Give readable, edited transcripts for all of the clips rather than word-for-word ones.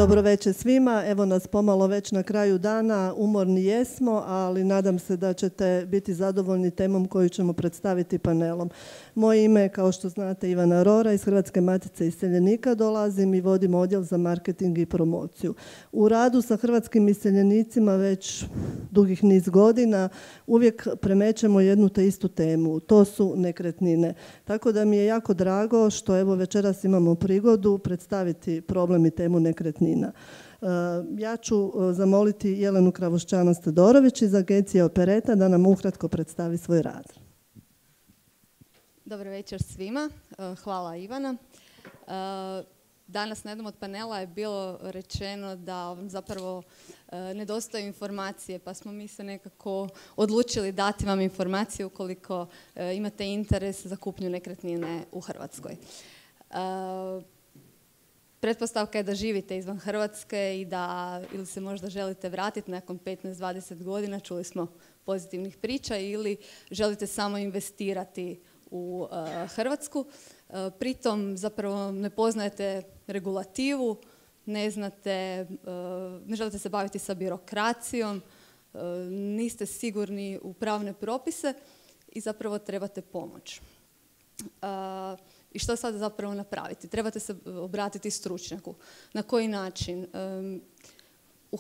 Dobro večer svima. Evo nas pomalo već na kraju dana. Umorni jesmo, ali nadam se da ćete biti zadovoljni temom koju ćemo predstaviti panelom. Moje ime je, kao što znate, Ivana Rora, iz Hrvatske matice iseljenika dolazim i vodim odjel za marketing i promociju. U radu sa hrvatskim iseljenicima već dugih niz godina uvijek premećemo jednu te istu temu. To su nekretnine. Tako da mi je jako drago što evo večeras imamo prigodu predstaviti problem i temu nekretnina. Ja ću zamoliti Jelenu Kravošćanac-Todorović iz agencije Opereta da nam ukratko predstavi svoj rad. Dobro večer svima. Hvala Ivana. Danas na jednom od panela je bilo rečeno da zapravo nedostaju informacije, pa smo mi se nekako odlučili dati vam informacije ukoliko imate interes za kupnju nekretnine u Hrvatskoj. Pretpostavka je da živite izvan Hrvatske i da ili se možda želite vratiti nakon 15-20 godina, čuli smo pozitivnih priča, ili želite samo investirati u Hrvatsku. Pritom zapravo ne poznajete regulativu, ne želite se baviti sa birokracijom, niste sigurni u pravne propise i zapravo trebate pomoć. I što sad zapravo napraviti? Trebate se obratiti stručnjaku. Na koji način?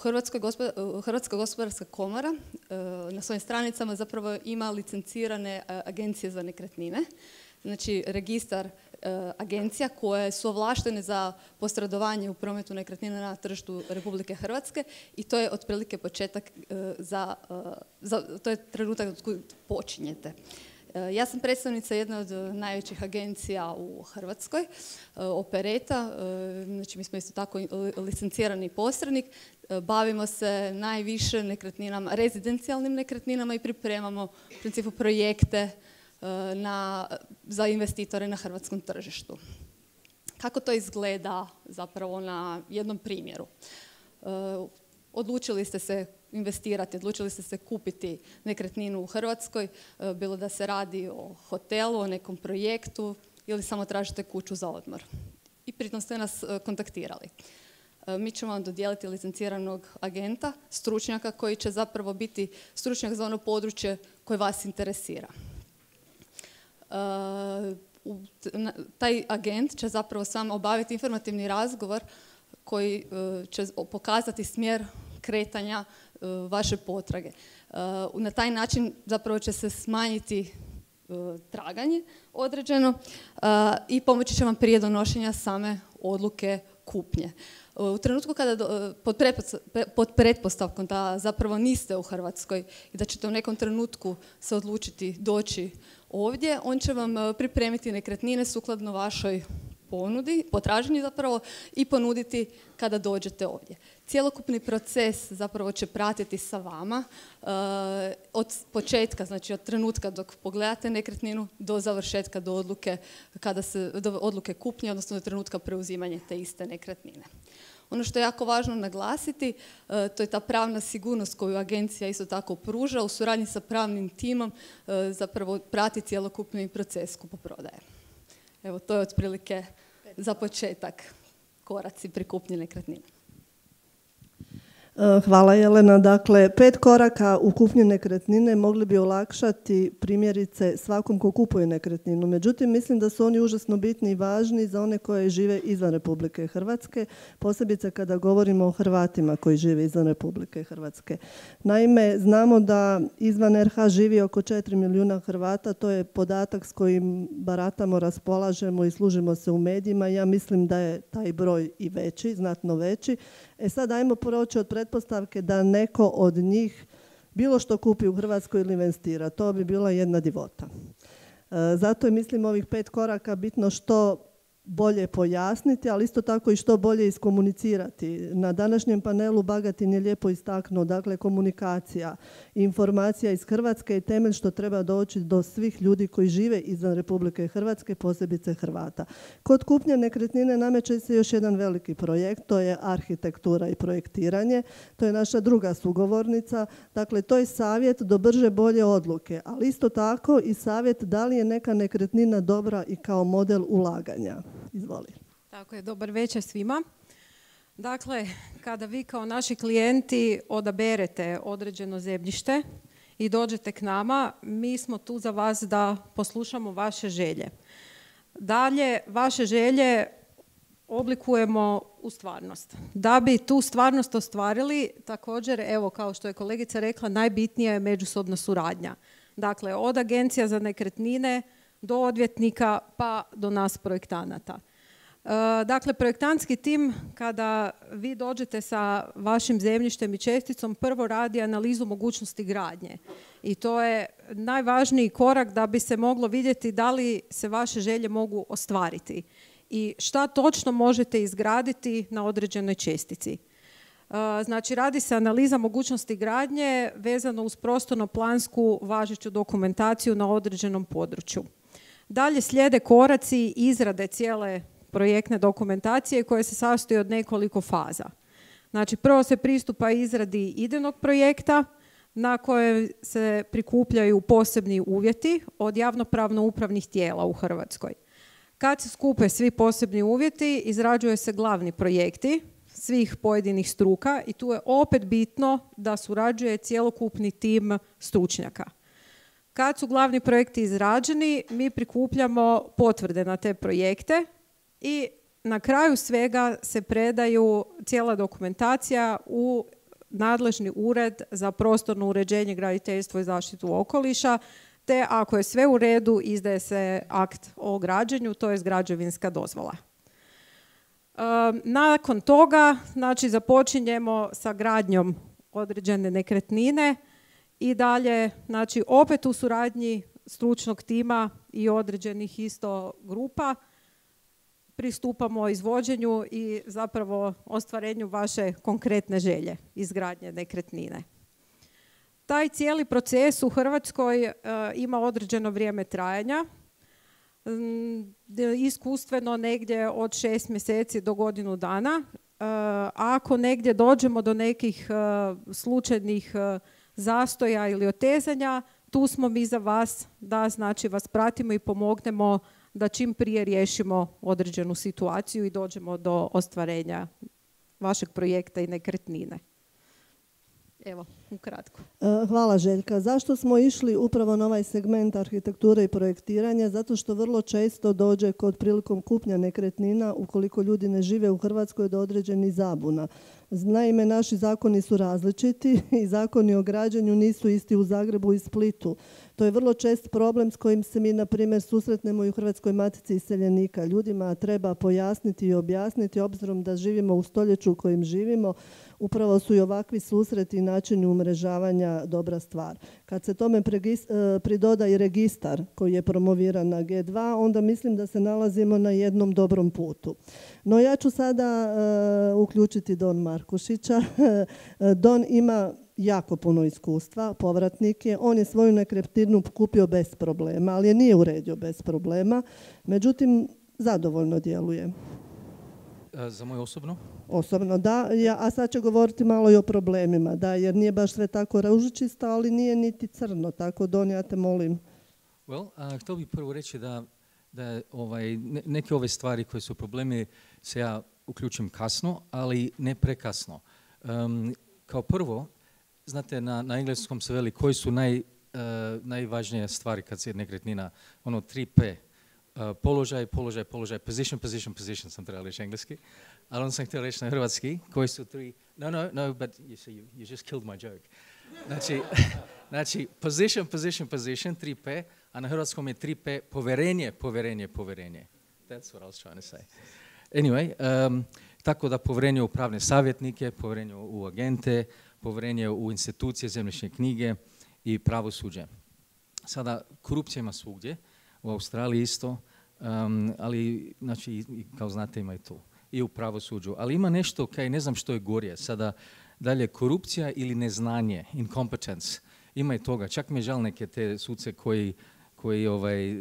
Hrvatska gospodarska komora na svojim stranicama zapravo ima licencirane agencije za nekretnine. Znači registar agencija koje su ovlaštene za posredovanje u prometu nekretnina na tržištu Republike Hrvatske i to je otprilike početak to je trenutak od kojeg počinjete. Ja sam predstavnica jedne od najvećih agencija u Hrvatskoj, Opereta, znači mi smo isto tako licencirani posrednik, bavimo se najviše nekretninama, rezidencijalnim nekretninama i pripremamo u principu projekte za investitore na hrvatskom tržištu. Kako to izgleda zapravo na jednom primjeru? Odlučili ste se investirati, odlučili ste se kupiti nekretninu u Hrvatskoj, bilo da se radi o hotelu, o nekom projektu ili samo tražite kuću za odmor. I pritom ste nas kontaktirali. Mi ćemo vam dodijeliti licenciranog agenta, stručnjaka koji će zapravo biti stručnjak za ono područje koje vas interesira. Taj agent će zapravo sam obaviti informativni razgovor koji će pokazati smjer kretanja vaše potrage. Na taj način zapravo će se smanjiti traganje određeno i pomoći će vam prije donošenja same odluke kupnje. U trenutku kada pod pretpostavkom da zapravo niste u Hrvatskoj i da ćete u nekom trenutku se odlučiti doći ovdje, on će vam pripremiti nekretnine sukladno vašoj potražnji zapravo i ponuditi kada dođete ovdje. Cjelokupni proces zapravo će pratiti sa vama od početka, znači od trenutka dok pogledate nekretninu do završetka, do odluke kupnje, odnosno do trenutka preuzimanja te iste nekretnine. Ono što je jako važno naglasiti, to je ta pravna sigurnost koju agencija isto tako pruža u suradnji sa pravnim timom, zapravo prati cjelokupni proces kupoprodaje. Evo, to je otprilike za početak koraci pri kupnji nekretnine. Hvala Jelena. Dakle, 5 koraka u kupnji nekretnine mogli bi olakšati primjerice svakom ko kupuje nekretninu. Međutim, mislim da su oni užasno bitni i važni za one koje žive izvan Republike Hrvatske, posebice kada govorimo o Hrvatima koji žive izvan Republike Hrvatske. Naime, znamo da izvan RH živi oko 4 milijuna Hrvata, to je podatak s kojim baratamo, raspolažemo i služimo se u medijima. Ja mislim da je taj broj i veći, znatno veći. Sad ajmo proći od pretpostavke da neko od njih bilo što kupi u Hrvatskoj ili investira. To bi bila jedna divota. Zato je, mislim, ovih 5 koraka bitno što bolje pojasniti, ali isto tako i što bolje iskomunicirati. Na današnjem panelu Bagatin je lijepo istaknuo, dakle, komunikacija i informacija iz Hrvatske je temelj što treba doći do svih ljudi koji žive izvan Republike Hrvatske, posebice Hrvata. Kod kupnje nekretnine nameće se još jedan veliki projekt, to je arhitektura i projektiranje. To je naša druga sugovornica. Dakle, to je savjet do brže bolje odluke, ali isto tako i savjet da li je neka nekretnina dobra i kao model ulaganja. Izvoli. Tako je, dobar večer svima. Dakle, kada vi kao naši klijenti odaberete određeno zemljište i dođete k nama, mi smo tu za vas da poslušamo vaše želje. Dalje, vaše želje oblikujemo u stvarnost. Da bi tu stvarnost ostvarili, također, evo, kao što je kolegica rekla, najbitnija je međusobna suradnja. Dakle, od agencija za nekretnine do odvjetnika pa do nas projektanata. Dakle, projektantski tim, kada vi dođete sa vašim zemljištem i česticom, prvo radi analizu mogućnosti gradnje. I to je najvažniji korak da bi se moglo vidjeti da li se vaše želje mogu ostvariti i šta točno možete izgraditi na određenoj čestici. Znači, radi se analiza mogućnosti gradnje vezano uz prostorno-plansku važeću dokumentaciju na određenom području. Dalje slijede koraci izrade cijele projektne dokumentacije koje se sastoji od nekoliko faza. Znači, prvo se pristupa izradi idejnog projekta na koje se prikupljaju posebni uvjeti od javnopravno-upravnih tijela u Hrvatskoj. Kad se skupe svi posebni uvjeti, izrađuje se glavni projekti svih pojedinih struka i tu je opet bitno da surađuje cjelokupni tim stručnjaka. Kad su glavni projekti izrađeni, mi prikupljamo potvrde na te projekte i na kraju svega se predaju cijela dokumentacija u nadležni ured za prostorno uređenje, graditeljstvo i zaštitu okoliša, te ako je sve u redu, izdaje se akt o građenju, to je građevinska dozvola. Nakon toga, znači, započinjemo sa gradnjom određene nekretnine i dalje, znači, opet u suradnji stručnog tima i određenih isto grupa pristupamo izvođenju i zapravo ostvarenju vaše konkretne želje izgradnje nekretnine. Taj cijeli proces u Hrvatskoj ima određeno vrijeme trajanja, iskustveno negdje od 6 mjeseci do godinu dana. Ako negdje dođemo do nekih slučajnih zastoja ili otezanja, tu smo mi za vas da, znači, vas pratimo i pomognemo da čim prije riješimo određenu situaciju i dođemo do ostvarenja vašeg projekta i nekretnine. Evo, ukratko. Hvala, Željka. Zašto smo išli upravo na ovaj segment arhitekture i projektiranja? Zato što vrlo često dođe kod prilikom kupnja nekretnina, ukoliko ljudi ne žive u Hrvatskoj, do određenih zabuna. Naime, naši zakoni su različiti i zakoni o građenju nisu isti u Zagrebu i Splitu. To je vrlo čest problem s kojim se mi, na primjer, susretnemo i u Hrvatskoj matici iseljenika. Ljudima treba pojasniti i objasniti, obzirom da živimo u stoljeću u kojem živimo, upravo su i ovakvi susreti i načini umrežavanja dobra stvar. Kad se tome pridoda i registar koji je promoviran na G2, onda mislim da se nalazimo na jednom dobrom putu. No, ja ću sada uključiti Don Markušića. Don ima jako puno iskustva, povratnik je. On je svoju nekretninu kupio bez problema, ali je nije uredio bez problema. Međutim, zadovoljno djeluje. Za moje osobno? Osobno, da. A sad će govoriti malo i o problemima, da, jer nije baš sve tako ružičisto, ali nije niti crno. Tako, Don, ja te molim. Htio bih prvo reći da neke ove stvari koje su problemi se ja uključim kasno, ali ne prekasno. Kao prvo, znate, na engleskom se veli koji su najvažnije stvari kad se nekretnina, 3P. Položaj, position sam trebao reći engleski, ali on sam htio reći na hrvatski, koji su tri, no, but you just killed my joke. Znači, position, 3P, a na hrvatskom je 3P, poverenje. That's what I was trying to say. Anyway, tako da povjerenje u pravne savjetnike, povjerenje u agente, povjerenje u institucije, zemljišne knjige i pravosuđe. Sada, korupcija ima svugdje, u Australiji isto, ali, znači, kao znate, ima i tu. I u pravosuđu. Ali ima nešto, ne znam što je gorje. Sada, dalje, korupcija ili neznanje, incompetence. Ima i toga. Čak mi je žal neke te suce koji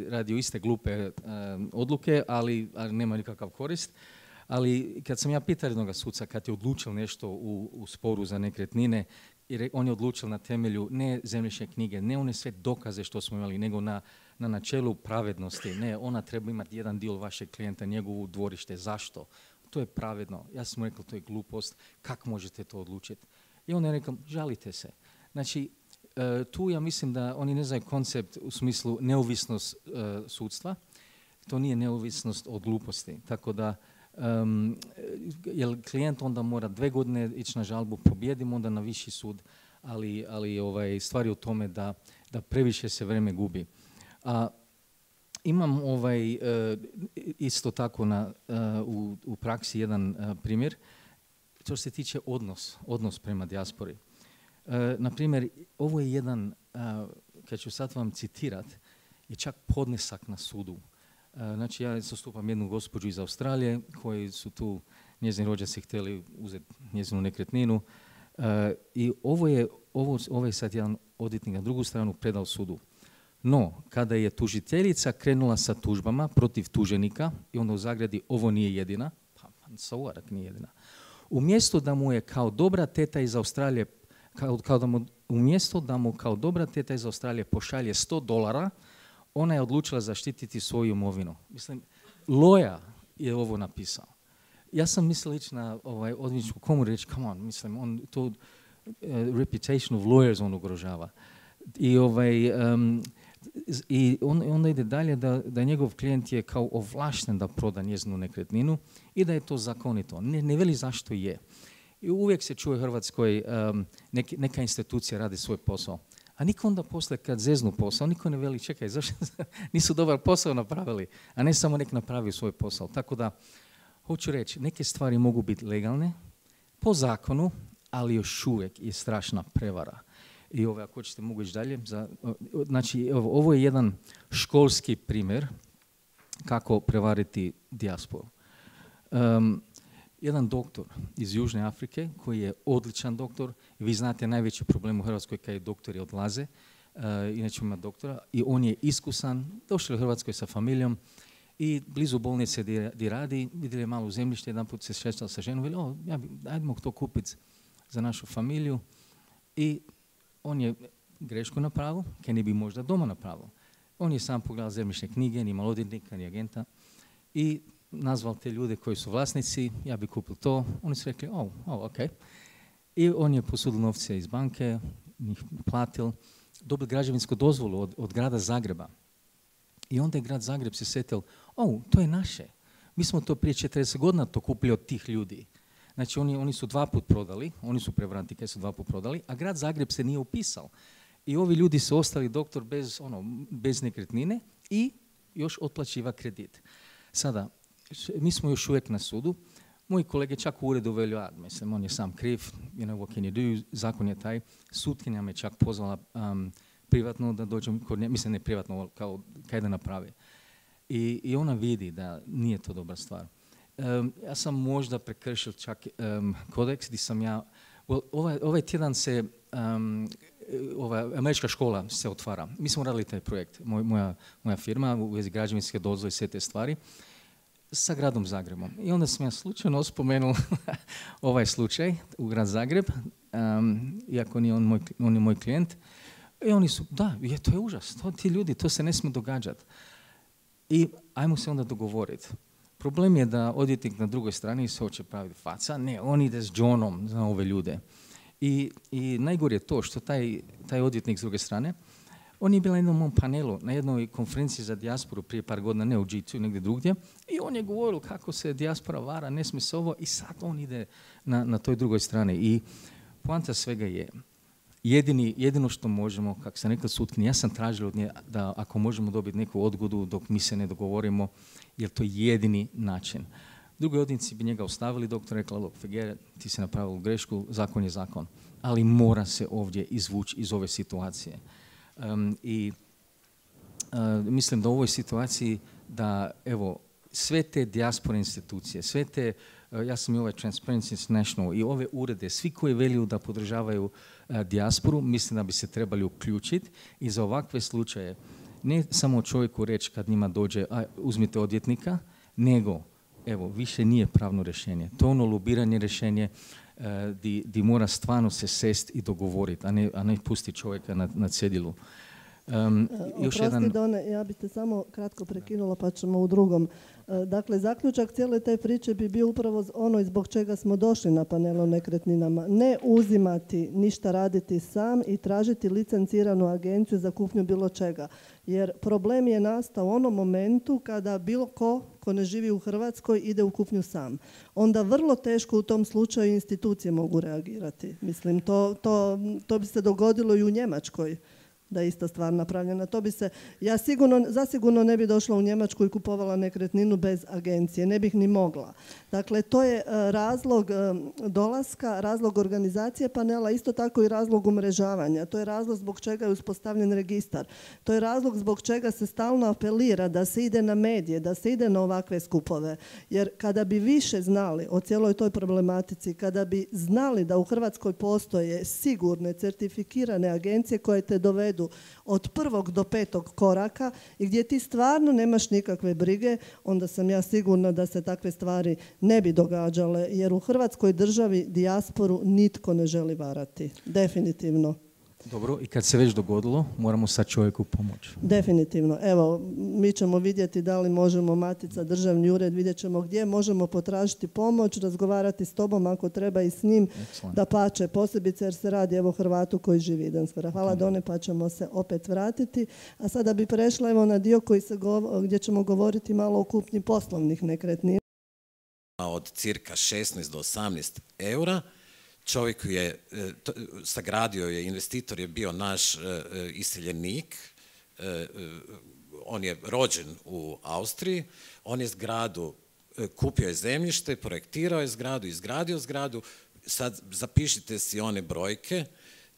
radi iste glupe odluke, ali nema nikakav korist. Ali kad sam ja pitao jednog suca, kad je odlučio nešto u sporu za nekretnine, on je odlučio na temelju ne zemljišne knjige, ne one sve dokaze što smo imali, nego na načelu pravednosti. Ne, ona treba imati jedan dio vašeg klijenta, njegovu dvorište. Zašto? to je pravedno. Ja sam mu rekao, to je glupost, kako možete to odlučiti? I on je rekao, žalite se. Znači, tu ja mislim da oni ne znaju koncept u smislu neovisnost sudstva. To nije neovisnost od gluposti. Tako da, jer klijent onda mora 2 godine ići na žalbu, pobijedimo onda na viši sud, ali stvar je u tome da previše se vrijeme gubi. Imam isto tako u praksi jedan primjer. To se tiče odnos prema dijaspori. Na primjer, ovo je jedan, kad ću sad vam citirat, je čak podnesak na sudu. Znači, ja zastupam jednu gospođu iz Australije koji su tu, njezini rođaci htjeli uzeti njezinu nekretninu i ovo je sad jedan odvjetnik na drugu stranu predao sudu. No, kada je tužiteljica krenula sa tužbama protiv tuženika i onda u zagradi ovo nije jedina, pa sauvarak nije jedina, umjesto da mu je kao dobra teta iz Australije, umjesto da mu kao dobra teta iz Australije pošalje $100, ona je odlučila zaštititi svoju imovinu. Mislim, Loja je ovo napisao. Ja sam mislio ići na odvjetničku komoru i reći, come on, mislim, on to reputation of lawyers on ugrožava. I onda ide dalje da njegov klijent je kao ovlašten da proda njezinu nekretninu i da je to zakonito. Ne veli zašto je. I uvijek se čuje u Hrvatskoj neka institucija radi svoj posao. A niko onda posle kad zeznu posao, niko ne veli čekaj, zašto nisu dobar posao napravili, a ne samo nek napravio svoj posao. Tako da, hoću reći, neke stvari mogu biti legalne po zakonu, ali još uvijek je strašna prevara. I ako hoćete mogu ići dalje. Znači, ovo je jedan školski primjer kako prevariti dijasporu. Jedan doktor iz Južne Afrike koji je odličan doktor, vi znate najveći problem u Hrvatskoj kada doktori odlaze, inače ima doktora, i on je iskusan, došao u Hrvatskoj sa familijom i blizu bolnice gdje radi, vidjeli je malo zemljište, jedan put se šeštao sa ženom, veli, ajdemo to kupiti za našu familiju, i on je grešku napravio, kaj ne bi možda doma napravio. On je sam pogledao zemljišne knjige, ni malodjetnika, ni agenta, i nazval te ljude koji su vlasnici, ja bi kupil to. Oni su rekli, ok. I on je posudio novce iz banke, njih platil, dobio građevinsku dozvolu od grada Zagreba. I onda je grad Zagreb se sjetil, to je naše. Mi smo to prije 40 godina to kupili od tih ljudi. Znači, oni su 2 put prodali, oni su prevaranti kaj su 2 put prodali, a grad Zagreb se nije upisao. I ovi ljudi su ostali doktor bez nekretnine i još otplaćiva kredit. Sada, mi smo još uvijek na sudu. Moji kolege čak u uredu veli, mislim, on je sam kriv, what can you do, zakon je taj. Sutkinja me čak pozvala privatno da dođem kod nje, mislim ne privatno, kao kaj da napravi. I ona vidi da nije to dobra stvar. Ja sam možda prekršil čak kodeks gdje sam ja, ovaj tjedan se, američka škola se otvara. Mi smo radili taj projekt, moja firma u vezi građevinske dozvole i sve te stvari, sa gradom Zagrebom. I onda sam ja slučajno spomenuo ovaj slučaj u grad Zagreb, iako nije on je moj klijent. I oni su, to je užas, ti ljudi, to se ne smije događati. I ajmo se onda dogovoriti. Problem je da odvjetnik na drugoj strani se hoće praviti faca, ne, on ide s džonom za ove ljude. I najgore je to što taj odvjetnik s druge strane, on je bio na jednom mom panelu, na jednoj konferenciji za dijasporu prije par godina, ne u G2, negdje drugdje, i on je govorio kako se dijaspora vara, ne smije se ovo, i sad on ide na toj drugoj strani. I poanta svega je, jedino što možemo, kako sam rekao sutkinji, ja sam tražio od nje da ako možemo dobiti neku odgodu dok mi se ne dogovorimo, jer to je jedini način. Drugi odvjetnici bi njega ostavili, doktor rekla, look, forget, ti si napravil grešku, zakon je zakon. Ali mora se ovdje izvući iz ove situacije. Mislim da u ovoj situaciji da, evo, sve te dijaspore institucije, sve te, ja sam i ovaj Transparency International i ove urede, svi koji veliju da podržavaju dijasporu, mislim da bi se trebali uključiti i za ovakve slučaje ne samo čovjeku reći kad njima dođe, uzmite odvjetnika, nego, evo, više nije pravno rješenje. To ono lobiranje rješenje di mora stvarno se sest i dogovoriti, a ne pusti čovjeka na cedilu. Oprosti, Done, ja bih te samo kratko prekinula pa ćemo u drugom. Dakle, zaključak cijele te priče bi bio upravo ono zbog čega smo došli na panel o nekretninama. Ne uzimati, ništa raditi sam i tražiti licenciranu agenciju za kupnju bilo čega. Jer problem je nastao u onom momentu kada bilo ko ne živi u Hrvatskoj ide u kupnju sam. Onda vrlo teško u tom slučaju institucije mogu reagirati. Mislim, to bi se dogodilo i u Njemačkoj. Da je ista stvar napravljena. To bi se, ja zasigurno ne bi došla u Njemačku i kupovala nekretninu bez agencije. Ne bih ni mogla. Dakle, to je razlog dolaska, razlog organizacije panela, isto tako i razlog umrežavanja. To je razlog zbog čega je uspostavljen registar. To je razlog zbog čega se stalno apelira da se ide na medije, da se ide na ovakve skupove. Jer kada bi više znali o cijeloj toj problematici, kada bi znali da u Hrvatskoj postoje sigurne, certifikirane agencije koje te dovedu od 1. do 5. koraka i gdje ti stvarno nemaš nikakve brige, onda sam ja sigurna da se takve stvari ne bi događale, jer u Hrvatskoj državi dijasporu nitko ne želi varati. Definitivno. Dobro, i kad se već dogodilo, moramo sad čovjeku pomoći. Definitivno. Evo, mi ćemo vidjeti da li možemo, Matica, Državni ured, vidjet ćemo gdje možemo potražiti pomoć, razgovarati s tobom ako treba i s njim, da pače, posebice jer se radi evo Hrvatu koji živi Idensfera. Hvala Done, pa ćemo se opet vratiti. A sada bi prešla evo na dio gdje ćemo govoriti malo o kupnji poslovnih nekretnina. Od cirka 16 do 18 eura. Čovjek je, sagradio je, investitor je bio naš iseljenik, on je rođen u Austriji, on je zgradu, kupio je zemljište, projektirao je zgradu, izgradio zgradu, sad zapišite si one brojke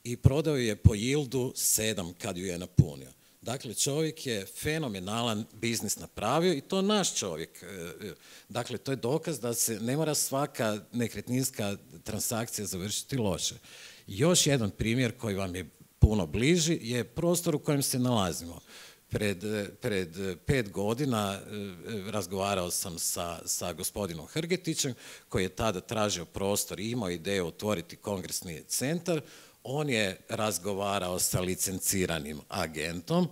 i prodao je po yildu 7 kad ju je napunio. Dakle, čovjek je fenomenalan biznis napravio i to naš čovjek. Dakle, to je dokaz da se ne mora svaka nekretninska transakcija završiti loše. Još jedan primjer koji vam je puno bliži je prostor u kojem se nalazimo. Pred 5 godina razgovarao sam sa gospodinom Hrgetićem koji je tada tražio prostor i imao ideju otvoriti kongresni centar. On je razgovarao sa licenciranim agentom,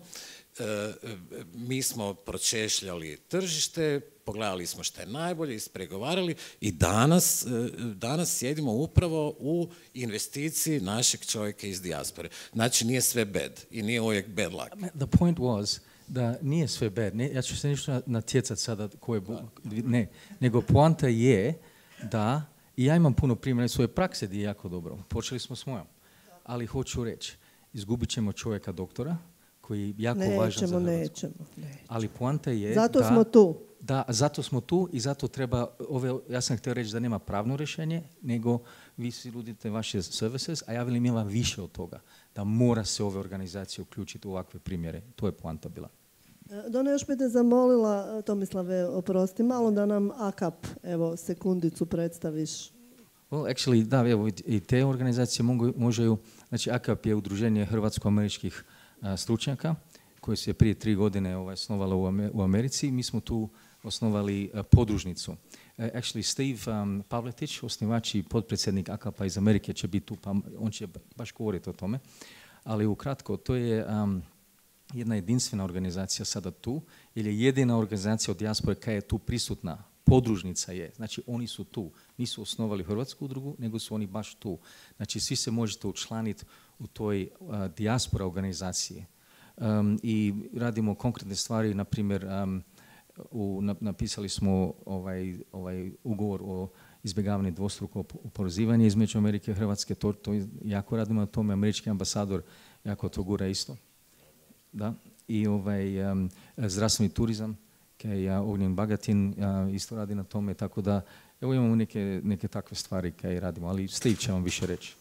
mi smo pročešljali tržište, pogledali smo što je najbolje, ispregovarali i danas sjedimo upravo u investiciji našeg čovjeka iz dijaspore. Znači nije sve bad i nije uvijek bad luck. The point was da nije sve bad. Ne, ja ću se ništa natjecati sada ne, nego poanta je da i ja imam puno primjera svoje prakse gdje je jako dobro. Počeli smo s mojom. Ali hoću reći, izgubit ćemo čovjeka doktora koji je jako važan za Hrvatsku. Nećemo. Ali poanta je zato smo tu. Da, zato smo tu i zato treba, ja sam htio reći da nema pravno rješenje, nego vi si nudite vaše services, a ja velim ima više od toga, da mora se ove organizacije uključiti u ovakve primjere. To je poanta bila. Dona, još bi te zamolila, Tomislave, oprosti, malo da nam AKAP, evo, sekundicu predstaviš. Well, actually, da, evo, i te organizacije možeju, znači AKAP je udruženje hrvatsko-američkih stručnjaka koje se prije 3 godine osnovalo u Americi. Mi smo tu osnovali podružnicu. Actually, Steve Pavletić, osnivač i potpredsjednik AKAP-a iz Amerike će biti tu, pa on će baš govoriti o tome. Ali ukratko, to je jedna jedinstvena organizacija sada tu, jer je jedina organizacija od dijaspore koja je tu prisutna. Podružnica je, znači oni su tu, nisu osnovali hrvatsku udrugu, nego su oni baš tu. Znači svi se možete učlaniti u toj dijaspora organizaciji. I radimo konkretne stvari, na primjer, napisali smo ovaj ugovor o izbjegavanju dvostrukog oporezivanja između Amerike i Hrvatske, to jako radimo na tome, američki ambasador jako to gura isto. Da. I zdravstveni turizam, Ognjen Bagatin isto radi na tome, tako da evo imamo neke takve stvari koje radimo, ali Steve će vam više reći.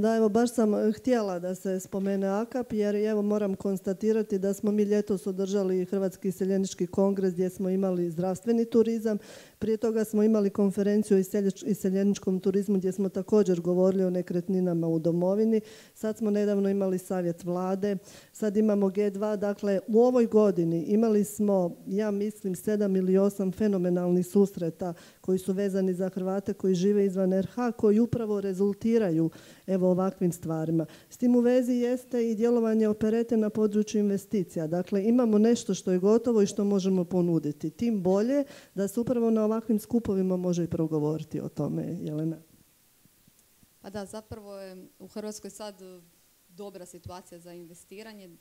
Da, evo baš sam htjela da se spomene AKAP, jer evo moram konstatirati da smo mi ljetos održali Hrvatski iseljenički kongres gdje smo imali zdravstveni turizam. Prije toga smo imali konferenciju o iseljeničkom turizmu gdje smo također govorili o nekretninama u domovini. Sad smo nedavno imali savjet vlade, sad imamo G2. Dakle, u ovoj godini imali smo, ja mislim, 7 ili 8 fenomenalnih susreta koji su vezani za Hrvate koji žive izvan RH, koji upravo rezultiraju evo ovakvim stvarima. S tim u vezi jeste i djelovanje Operete na području investicija. Dakle, imamo nešto što je gotovo i što možemo ponuditi. Tim bolje da se upravo na ovakvim skupovima može i progovoriti o tome, Jelena. Pa da, zapravo je u Hrvatskoj sad dobra situacija za investiranje.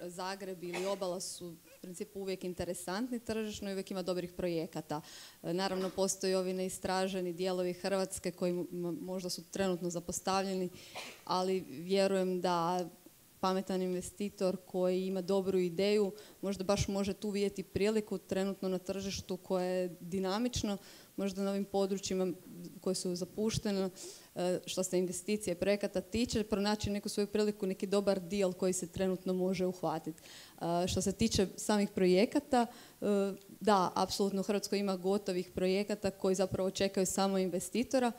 Zagreb ili obala su u principu uvijek interesantni tržišno i uvijek ima dobrih projekata. Naravno, postoji ovi neistraženi dijelovi Hrvatske koji možda su trenutno zapostavljeni, ali vjerujem da pametan investitor koji ima dobru ideju možda baš može tu vidjeti priliku trenutno na tržištu koje je dinamično, možda na ovim područjima koje su zapuštene, što se investicije projekata tiče, pronaći neku svoju priliku, neki dobar deal koji se trenutno može uhvatiti. Što se tiče samih projekata, da, apsolutno u Hrvatskoj ima gotovih projekata koji zapravo čekaju samo investitora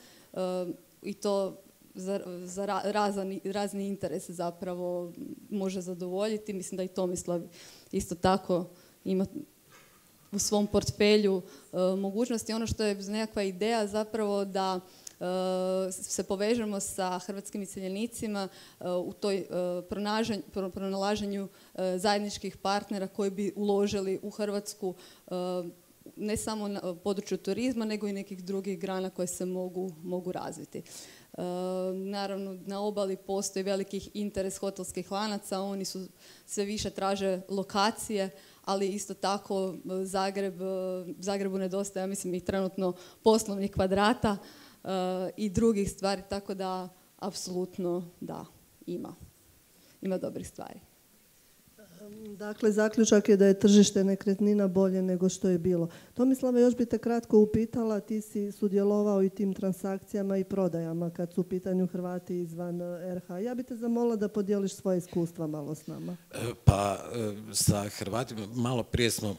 i to za razni interes zapravo može zadovoljiti. Mislim da i Tomislav isto tako ima u svom portfelju mogućnosti. Ono što je nekakva ideja zapravo da se povežemo sa hrvatskim iseljenicima u toj pronalaženju zajedničkih partnera koji bi uložili u Hrvatsku ne samo na području turizma, nego i nekih drugih grana koje se mogu razviti. Naravno, na obali postoji veliki interes hotelskih lanaca, oni su sve više traže lokacije, ali isto tako Zagrebu nedostaje, ja mislim, i trenutno poslovnih kvadrata i drugih stvari, tako da apsolutno da, ima dobrih stvari. Dakle, zaključak je da je tržište nekretnina bolje nego što je bilo. Tomislave, još bi te kratko upitala, ti si sudjelovao i tim transakcijama i prodajama kad su u pitanju Hrvati izvan RH. Ja bi te zamolila da podijeliš svoje iskustva malo s nama. Pa sa Hrvatima, malo prije smo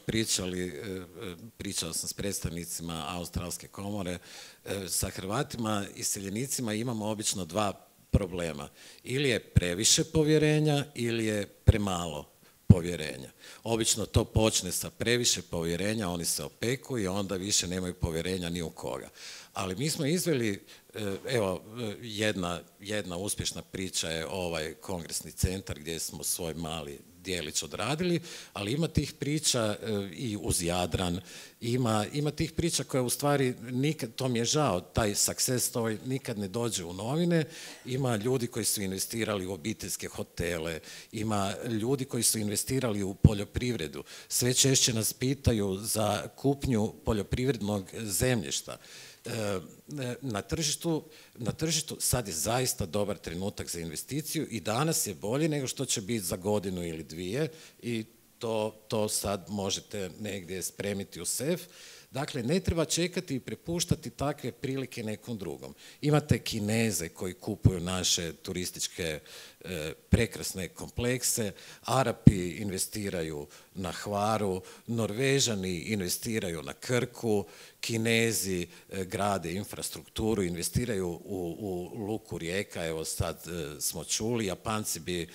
pričao sam s predstavnicima Australske komore, sa Hrvatima iseljenicima imamo obično dva problema. Ili je previše povjerenja ili je premalo povjerenja. Obično to počne sa previše povjerenja, oni se opeku i onda više nemaju povjerenja ni u koga. Ali mi smo izveli, evo, jedna uspješna priča je ovaj kongresni centar gdje smo svoj mali dijelić odradili, ali ima tih priča i uz Jadran, ima tih priča koje u stvari nikad, to mi je žao, taj success story nikad ne dođe u novine. Ima ljudi koji su investirali u obiteljske hotele, ima ljudi koji su investirali u poljoprivredu. Sve češće nas pitaju za kupnju poljoprivrednog zemljišta. Na tržištu sad je zaista dobar trenutak za investiciju i danas je bolje nego što će biti za godinu ili dvije i to sad možete negdje spremiti u sef. Dakle, ne treba čekati i prepuštati takve prilike nekom drugom. Imate Kineze koji kupuju naše turističke prekrasne komplekse, Arapi investiraju na Hvaru, Norvežani investiraju na Krku, Kinezi grade infrastrukturu, investiraju u luku Rijeka, evo sad smo čuli, Japanci bi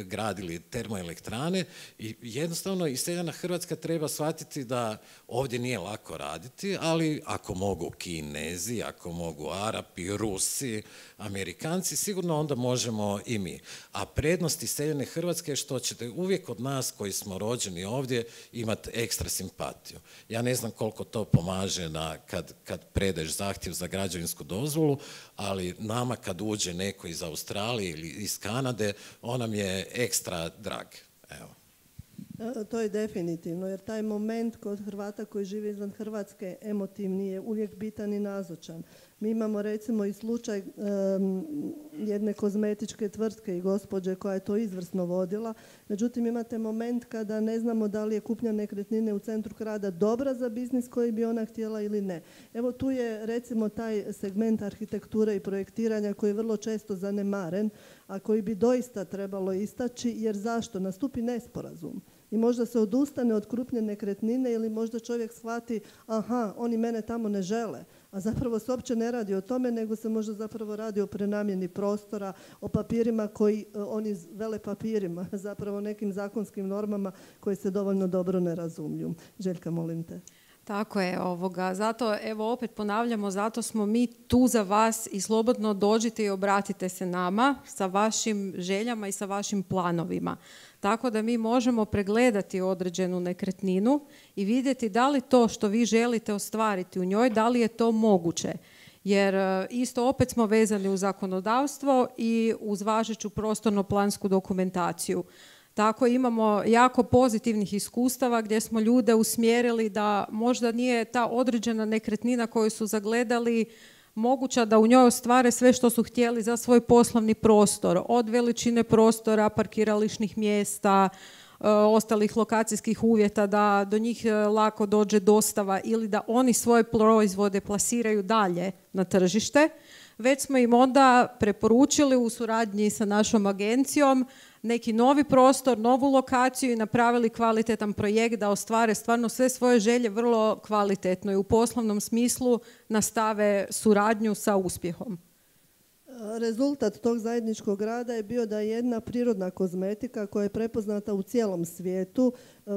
gradili termoelektrane i jednostavno iseljena Hrvatska treba shvatiti da ovdje nije lako raditi, ali ako mogu Kinezi, ako mogu Arapi, Rusi, Amerikanci, sigurno onda možemo i mi. A prednost iseljene Hrvatske je što ćete uvijek od nas koji smo rođeni ovdje imati ekstra simpatiju. Ja ne znam koliko to pomaže kad predeš zahtjev za građevinsku dozvolu, ali nama kad uđe neko iz Australije ili iz Kanade, on nam je ekstra drag. Evo. To je definitivno, jer taj moment kod Hrvata koji žive izvan Hrvatske emotivni je uvijek bitan i nazočan. Mi imamo recimo i slučaj jedne kozmetičke tvrtke i gospođe koja je to izvrsno vodila, međutim imate moment kada ne znamo da li je kupnja nekretnine u centru grada dobra za biznis koji bi ona htjela ili ne. Evo tu je recimo taj segment arhitekture i projektiranja koji je vrlo često zanemaren, a koji bi doista trebalo istaći, jer zašto? Nastupi nesporazum. I možda se odustane od krupne nekretnine ili možda čovjek shvati aha, oni mene tamo ne žele. A zapravo se uopće ne radi o tome, nego se možda zapravo radi o prenamjeni prostora, o papirima koji oni vele papirima, zapravo nekim zakonskim normama koje se dovoljno dobro ne razumiju. Željka, molim te. Tako je, zato evo opet ponavljamo, zato smo mi tu za vas i slobodno dođite i obratite se nama sa vašim željama i sa vašim planovima. Tako da mi možemo pregledati određenu nekretninu i vidjeti da li to što vi želite ostvariti u njoj, da li je to moguće. Jer isto opet smo vezani u zakonodavstvo i uz važeću prostorno-plansku dokumentaciju. Tako imamo jako pozitivnih iskustava gdje smo ljude usmjerili da možda nije ta određena nekretnina koju su zagledali moguća da u njoj ostvare sve što su htjeli za svoj poslovni prostor, od veličine prostora, parkirališnih mjesta, ostalih lokacijskih uvjeta, da do njih lako dođe dostava ili da oni svoje proizvode plasiraju dalje na tržište. Već smo im onda preporučili u suradnji sa našom agencijom neki novi prostor, novu lokaciju i napravili kvalitetan projekt da ostvare stvarno sve svoje želje vrlo kvalitetno i u poslovnom smislu nastave suradnju sa uspjehom. Rezultat tog zajedničkog rada je bio da je jedna prirodna kozmetika koja je prepoznata u cijelom svijetu,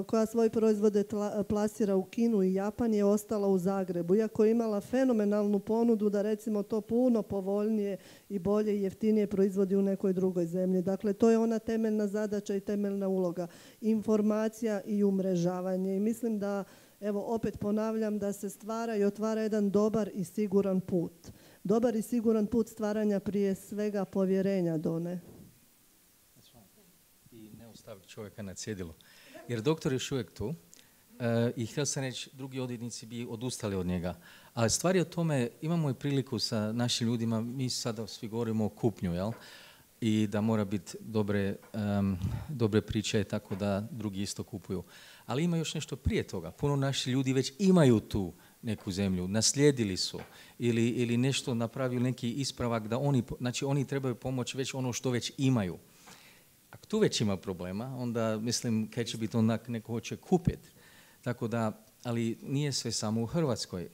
koja svoje proizvode plasira u Kinu i Japan, je ostala u Zagrebu. Iako je imala fenomenalnu ponudu da recimo to puno povoljnije i bolje i jeftinije proizvodi u nekoj drugoj zemlji. Dakle, to je ona temeljna zadaća i temeljna uloga. Informacija i umrežavanje. I mislim da, evo opet ponavljam, da se stvara i otvara jedan dobar i siguran put. Dobar i siguran put stvaranja prije svega povjerenja, Done. I ne ostaviti čovjeka na cjedilu. Jer doktor je još uvijek tu i htio sam reći, drugi odvjetnici bi odustali od njega. Ali stvar je o tome, imamo i priliku sa našim ljudima, mi sada svi govorimo o kupnju, jel? I da mora biti dobre priče tako da drugi isto kupuju. Ali ima još nešto prije toga. Puno naših ljudi već imaju tu neku zemlju, naslijedili su ili nešto napravili, neki ispravak da oni trebaju pomoć već ono što već imaju. Ako tu već ima problema, onda mislim kaj će biti onak neko hoće kupiti. Tako da, ali nije sve samo u Hrvatskoj.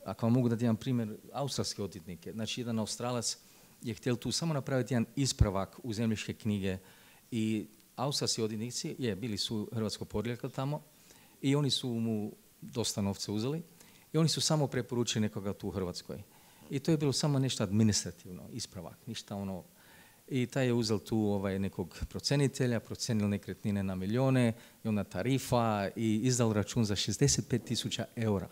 Ako vam mogu dati jedan primjer, australske odvjetnike. Znači, jedan Australac je htjel tu samo napraviti jedan ispravak u zemljiške knjige i australski odvjetnici, bili su hrvatsko porijeklo tamo i oni su mu dosta novca uzeli i oni su samo preporučili nekoga tu u Hrvatskoj. I to je bilo samo nešto administrativno, ispravak, ništa ono. I taj je uzel tu nekog procenitelja, procenil nekretnine na milijone i onda tarifa i izdal račun za 65.000 eura.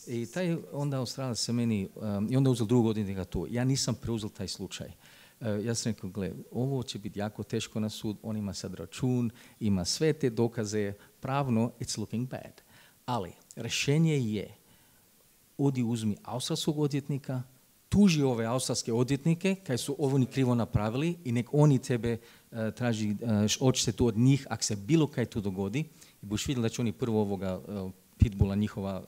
I taj onda Australac se meni, i onda uzel drugog odvjetnika tu. Ja nisam preuzел taj slučaj. Ja sam rekao, gle, ovo će biti jako teško na sud, on ima sad račun, ima sve te dokaze, pravno, it's looking bad. Ali rješenje je, odi uzmi australskog odvjetnika, tuži ove australske odvjetnike kaj su ovo ni krivo napravili i nek oni tebe traži odštetu od njih ako se bilo kaj tu dogodi i buš vidjeli da će oni prvo ovoga pitbulla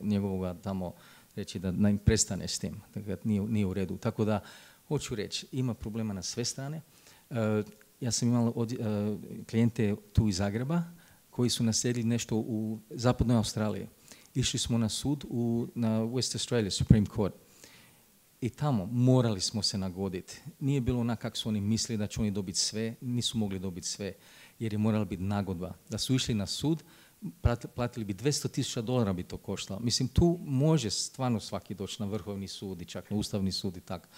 njegovoga tamo reći da im prestane s tim, da nije u redu. Tako da, hoću reći, ima problema na sve strane. Ja sam imao klijente tu iz Zagreba koji su naslijedili nešto u zapadnoj Australiji. Išli smo na sud na West Australia, Supreme Court. I tamo morali smo se nagoditi. Nije bilo onak kako su oni mislili da će oni dobiti sve, nisu mogli dobiti sve, jer je morala biti nagodba. Da su išli na sud, platili bi $200,000 bi to koštalo. Mislim, tu može stvarno svaki doći na Vrhovni sud i čak na Ustavni sud i tako,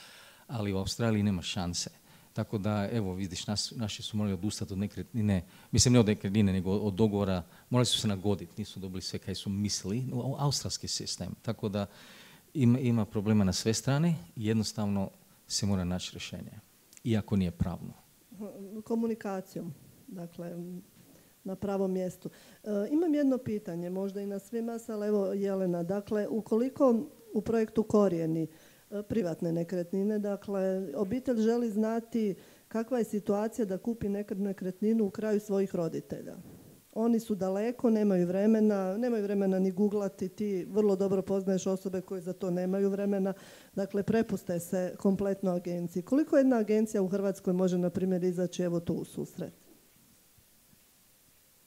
ali u Australiji nema šanse. Tako da, evo, vidiš, naši su morali odustati od nekretnine, mislim ne od nekretnine, nego od dogovora, morali su se nagoditi, nisu dobili sve kaj su mislili, australski sistem. Tako da ima problema na sve strane i jednostavno se mora naći rješenje, iako nije pravno. Komunikacijom, dakle, na pravom mjestu. Imam jedno pitanje, možda i na svima, ali evo Jelena, dakle, ukoliko u projektu Korijeni privatne nekretnine, dakle, obitelj želi znati kakva je situacija da kupi nekretninu u kraju svojih roditelja. Oni su daleko, nemaju vremena ni googlati, ti vrlo dobro poznaješ osobe koje za to nemaju vremena, dakle, prepuste se kompletno agenciji. Koliko jedna agencija u Hrvatskoj može, na primjer, izaći evo tu u susret?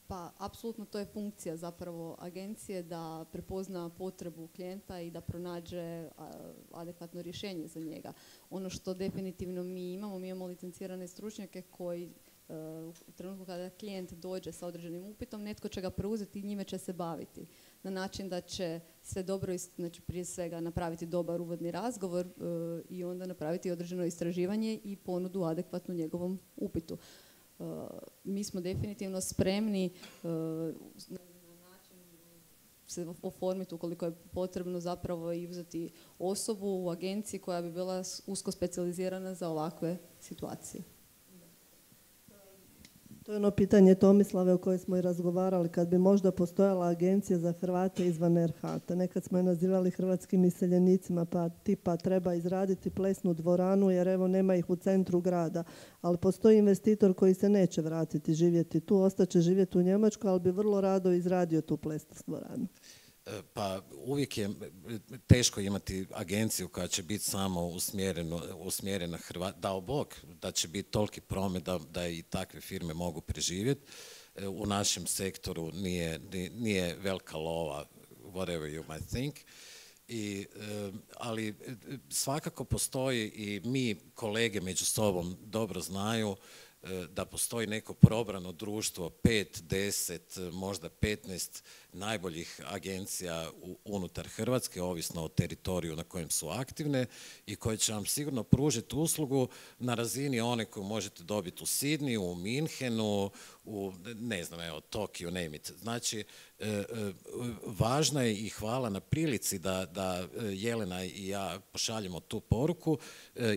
Pa apsolutno to je funkcija zapravo agencije da prepozna potrebu klijenta i da pronađe adekvatno rješenje za njega. Ono što definitivno mi imamo licencirane stručnjake koji u trenutku kada klijent dođe sa određenim upitom, netko će ga preuzeti i njime će se baviti na način da će sve dobro, znači prije svega napraviti dobar uvodni razgovor i onda napraviti određeno istraživanje i ponudu adekvatnu njegovom upitu. Mi smo definitivno spremni na način se oformiti ukoliko je potrebno zapravo i uzeti osobu u agenciji koja bi bila usko specijalizirana za ovakve situacije. To je ono pitanje Tomislave o kojoj smo i razgovarali, kad bi možda postojala agencija za Hrvate izvan RH. Nekad smo je nazivali hrvatskim iseljenicima, pa tipa treba izraditi plesnu dvoranu jer evo nema ih u centru grada. Ali postoji investitor koji se neće vratiti živjeti tu, ostaće živjeti u Njemačkoj, ali bi vrlo rado izradio tu plesnu dvoranu. Pa uvijek je teško imati agenciju koja će biti samo usmjerena Hrvata. Dao Bog da će biti toliki promet da i takve firme mogu preživjeti. U našem sektoru nije velika lova, whatever you might think. Ali svakako postoji i mi kolege među sobom dobro znaju da postoji neko probrano društvo, 5, 10, možda 15 najboljih agencija unutar Hrvatske, ovisno o teritoriju na kojem su aktivne i koje će vam sigurno pružiti uslugu na razini one koju možete dobiti u Sidniju, u Minhenu, u, ne znam, evo, Tokiju, name it. Znači, važno je i hvala na prilici da Jelena i ja pošaljemo tu poruku.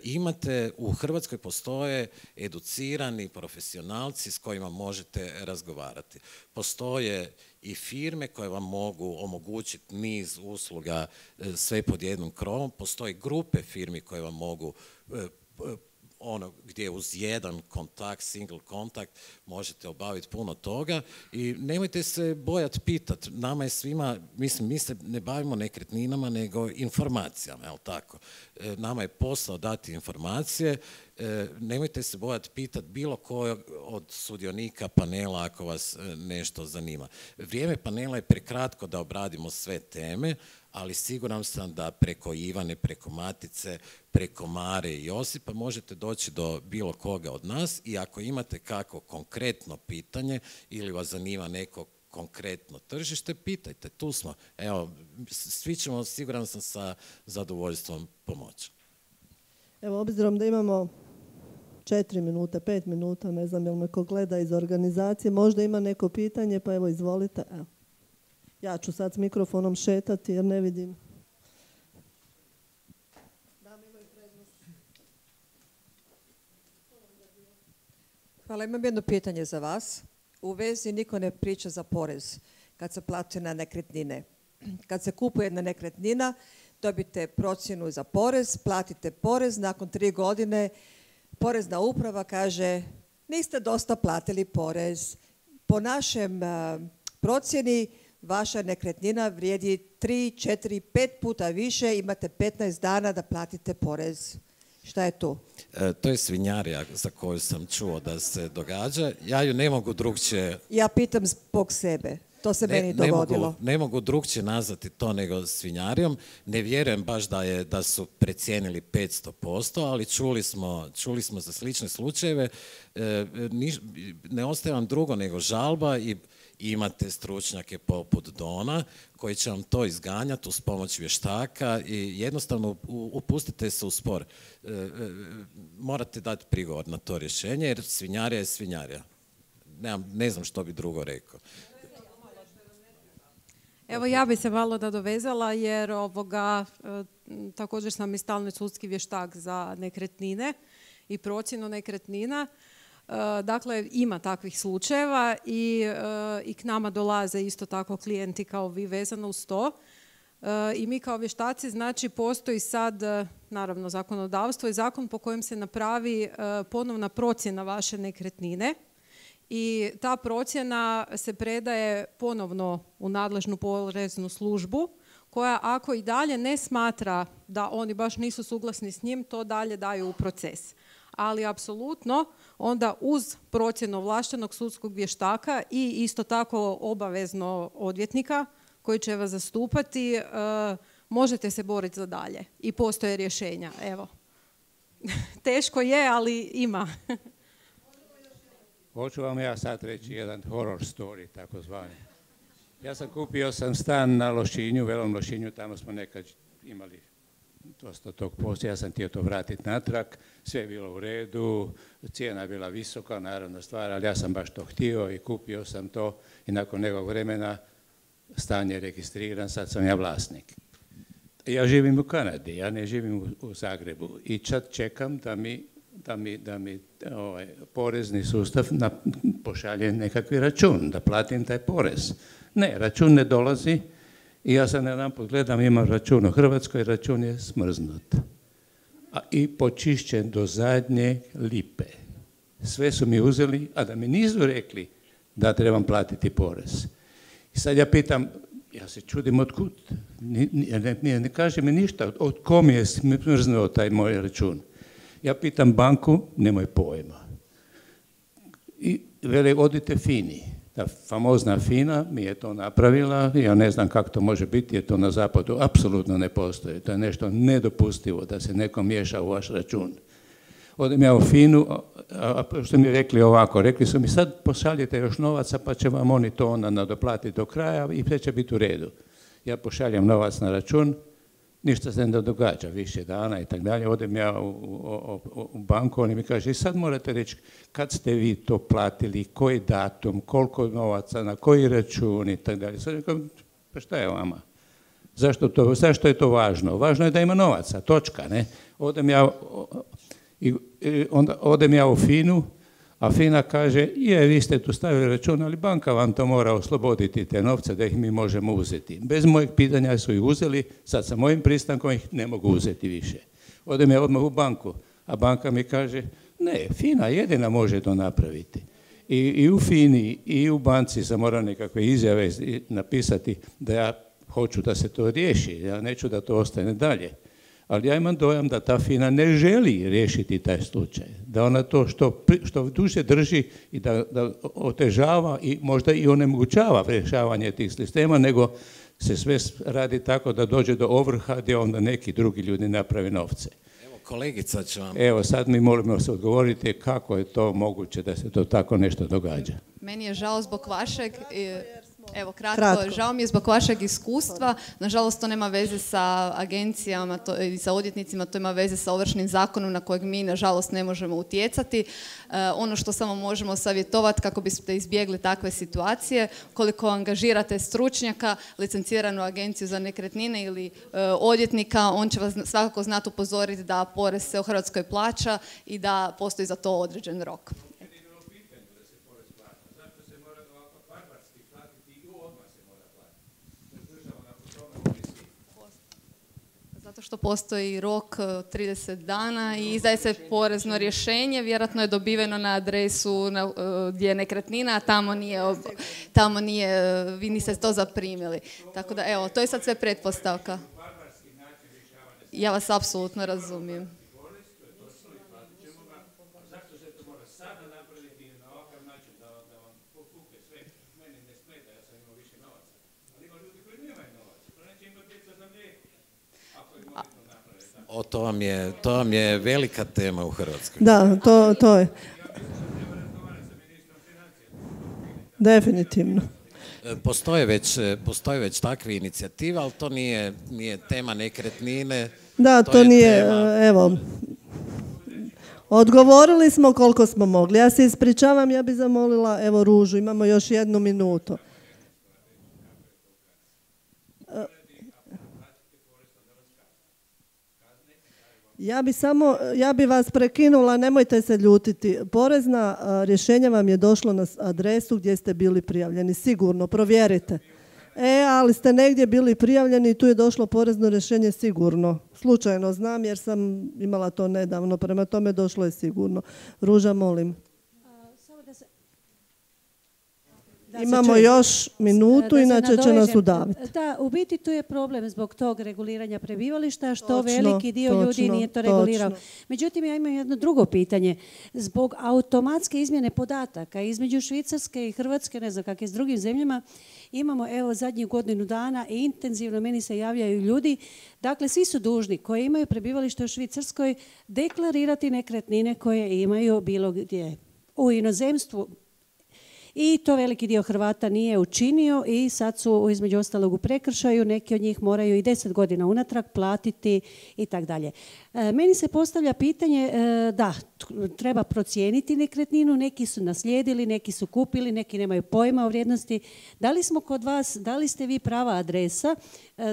Imate, u Hrvatskoj postoje educirani profesionalci s kojima možete razgovarati. Postoje i firme koje vam mogu omogućiti niz usluga sve pod jednom krovom. Postoje grupe firmi koje vam mogu gdje uz jedan kontakt, single kontakt, možete obaviti puno toga i nemojte se bojati pitati. Nama je svima, mislim, mi se ne bavimo nekretninama, nego informacijama, jel tako? Nama je posao dati informacije, nemojte se bojati pitati bilo kojeg od sudionika panela ako vas nešto zanima. Vrijeme panela je prekratko da obradimo sve teme, ali siguran sam da preko Ivane, preko Matice, preko Mare i Josipa možete doći do bilo koga od nas i ako imate kako konkretno pitanje ili vas zanima neko konkretno tržište, pitajte, tu smo. Evo, svi ćemo, siguran sam, sa zadovoljstvom pomoći. Evo, obzirom da imamo 4 minute, 5 minuta, ne znam jel me ko gleda iz organizacije, možda ima neko pitanje, pa evo izvolite. Evo. Ja ću sad s mikrofonom šetati jer ne vidim. Hvala, imam jedno pitanje za vas. U vezi niko ne priča za porez kad se plati na nekretnine. Kad se kupuje jedna nekretnina, dobite procjenu za porez, platite porez, nakon 3 godine porezna uprava kaže niste dosta platili porez. Po našem procjeni vaša nekretnina vrijedi 3, 4, 5 puta više, imate 15 dana da platite porez. Šta je to? To je svinjarija za koju sam čuo da se događa. Ja ju ne mogu drugčije... Ja pitam zbog sebe. To se meni dogodilo. Ne mogu drugčije nazvati to nego svinjarijom. Ne vjerujem baš da su precijenili 500%, ali čuli smo za slične slučajeve. Ne ostaje vam drugo nego žalba i imate stručnjake poput Dona koji će vam to izganjati uz pomoć vještaka i jednostavno upustite se u spor. Morate dati prigovor na to rješenje jer svinjarija je svinjarija. Ne znam što bi drugo rekao. Evo ja bi se malo nadovezala jer također sam i stalni sudski vještak za nekretnine i procjenu nekretnina. Dakle, ima takvih slučajeva i k nama dolaze isto tako klijenti kao vi vezano uz to. I mi kao vještaci, znači postoji sad, naravno, zakonodavstvo i zakon po kojem se napravi ponovna procjena vaše nekretnine. I ta procjena se predaje ponovno u nadležnu poreznu službu koja ako i dalje ne smatra da oni baš nisu suglasni s njim, to dalje daju u proces. ali apsolutno onda uz procjenu ovlaštenog sudskog vještaka i isto tako obavezno odvjetnika koji će vas zastupati, možete se boriti za dalje i postoje rješenja. Evo. Teško je, ali ima. Hoću vam ja sad reći jedan horror story, takozvani. Kupio sam stan na Lošinju, Velom Lošinju, tamo smo nekad imali dosta tog posla, ja sam htio to vratiti natrag, sve je bilo u redu, cijena je bila visoka, naravna stvar, ali ja sam baš to htio i kupio sam to i nakon nekog vremena stan je registriran, sad sam ja vlasnik. Ja živim u Kanadi, ja ne živim u Zagrebu i sad čekam da mi porezni sustav pošalje nekakvi račun, da platim taj porez. Ne, račun ne dolazi i ja sad jedanput gledam, imam račun u Hrvatskoj, račun je smrznut. I počišćen do zadnje lipe. Sve su mi uzeli, a da mi nisu rekli da trebam platiti porez. I sad ja pitam, ja se čudim otkud, ne kaže mi ništa, od kom je smrznuo taj moj račun. Ja pitam banku, nemoj pojma. I vele, odite FINI. Ta famozna FINA mi je to napravila, ja ne znam kako to može biti, jer to na zapadu apsolutno ne postoji. To je nešto nedopustivo da se neko miješa u vaš račun. Odem ja u FINU, a što mi rekli ovako, rekli su mi sad pošaljite još novaca pa će vam oni to onda nadoplatiti do kraja i sve će biti u redu. Ja pošaljem novac na račun, ništa se ne događa više dana i tako dalje. Odem ja u banku, oni mi kaže i sad morate reći kad ste vi to platili, koji datum, koliko novaca, na koji račun i tako dalje. Sad rekao, pa šta je vama? Zašto je to važno? Važno je da ima novaca, točka, ne? Odem ja u FINU, a FINA kaže, vi ste tu stavili račun, ali banka vam to mora osloboditi te novce da ih mi možemo uzeti. Bez mojeg pitanja su ih uzeli, sad sa mojim pristankom ih ne mogu uzeti više. Odem ja odmah u banku, a banka mi kaže, ne, FINA jedina može to napraviti. I u FINI i u banci sam morao nekakve izjave napisati da ja hoću da se to riješi, ja neću da to ostane dalje. Ali ja imam dojam da ta FINA ne želi riješiti taj slučaj, da ona to što duže drži i da otežava i možda i onemogućava rješavanje tih sistema, nego se sve radi tako da dođe do ovrha gdje onda neki drugi ljudi naprave novce. Evo, kolegica će vam... Evo, sad mi molimo se odgovoriti kako je to moguće da se to tako nešto događa. Meni je žao zbog vašeg... Evo, kratko. Žao mi je zbog vašeg iskustva. Nažalost, to nema veze sa agencijama i sa odvjetnicima, to ima veze sa Ovršnim zakonom na kojeg mi, nažalost, ne možemo utjecati. Ono što samo možemo savjetovati kako biste izbjegli takve situacije, koliko angažirate stručnjaka, licenciranu agenciju za nekretnine ili odvjetnika, on će vas svakako znati upozoriti da porez se u Hrvatskoj plaća i da postoji za to određen rok. Zato što postoji rok 30 dana i izdaje se porezno rješenje, vjerojatno je dobiveno na adresu gdje je nekretnina, a tamo nije, vi niste to zaprimili. Tako da, evo, to je sad sve pretpostavka. Ja vas apsolutno razumijem. To vam je velika tema u Hrvatskoj. Da, to je. Definitivno. Postoje već takve inicijative, ali to nije tema nekretnine. Da, to nije, evo, odgovorili smo koliko smo mogli. Ja se ispričavam, ja bih zamolila, evo, Ružu, imamo još 1 minutu. Ja bi vas prekinula, nemojte se ljutiti. Porezna rješenja vam je došlo na adresu gdje ste bili prijavljeni, sigurno, provjerite. Ali ste negdje bili prijavljeni i tu je došlo porezno rješenje sigurno. Slučajno znam jer sam imala to nedavno, prema tome došlo je sigurno. Ruža, molim. Imamo još minutu, inače će nas udaviti. Da, u biti tu je problem zbog tog reguliranja prebivališta, što veliki dio ljudi nije to regulirao. Međutim, ja imam jedno drugo pitanje. Zbog automatske izmjene podataka između Švicarske i Hrvatske, ne znam kak je s drugim zemljama, imamo evo zadnjih godinu dana i intenzivno meni se javljaju ljudi. Dakle, svi su dužni koji imaju prebivalište u Švicarskoj deklarirati nekretnine koje imaju bilo gdje u inozemstvu. I to veliki dio Hrvata nije učinio i sad su između ostalog u prekršaju, neki od njih moraju i 10 godina unatrag platiti i tak dalje. Meni se postavlja pitanje, da, treba procijeniti nekretninu, neki su naslijedili, neki su kupili, neki nemaju pojma o vrijednosti. Da li smo kod vas, da li ste vi prava adresa?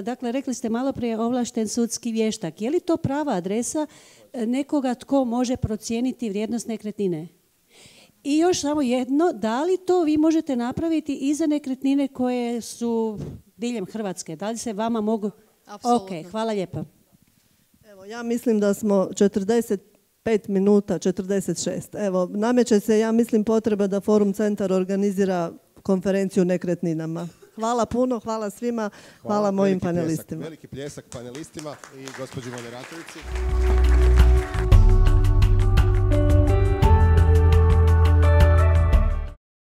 Dakle, rekli ste malo prije ovlašten sudski vještak. Je li to prava adresa nekoga tko može procijeniti vrijednost nekretnine? I još samo jedno, da li to vi možete napraviti i za nekretnine koje su diljem Hrvatske? Da li se vama mogu... Apsolutno. Ok, hvala lijepa. Evo, ja mislim da smo 45 minuta, 46. Evo, nameće se, ja mislim, potreba da Forum Centar organizira konferenciju o nekretninama. Hvala puno, hvala svima, hvala mojim panelistima. Veliki pljesak panelistima i gospođi moderatorici.